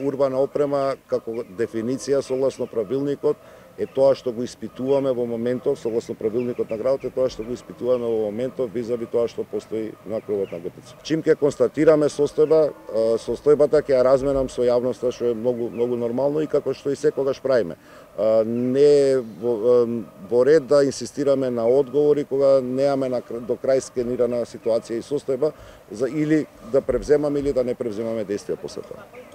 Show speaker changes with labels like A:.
A: Урбана опрема како дефиниција согласно правилникот е тоа што го испитуваме во моментов, согласно правилникот на градот е тоа што го испитуваме во моментов визави тоа што постои на кровот на ГТЦ. Чим ќе констатираме состојба, состојбата ќе ја разменам со јавноста, што е многу нормално и како што и секогаш правиме. Не е во ред да инсистираме на одговори кога немаме до крај скенирана ситуација и состојба или да превземаме или да не превземаме действија после тоа.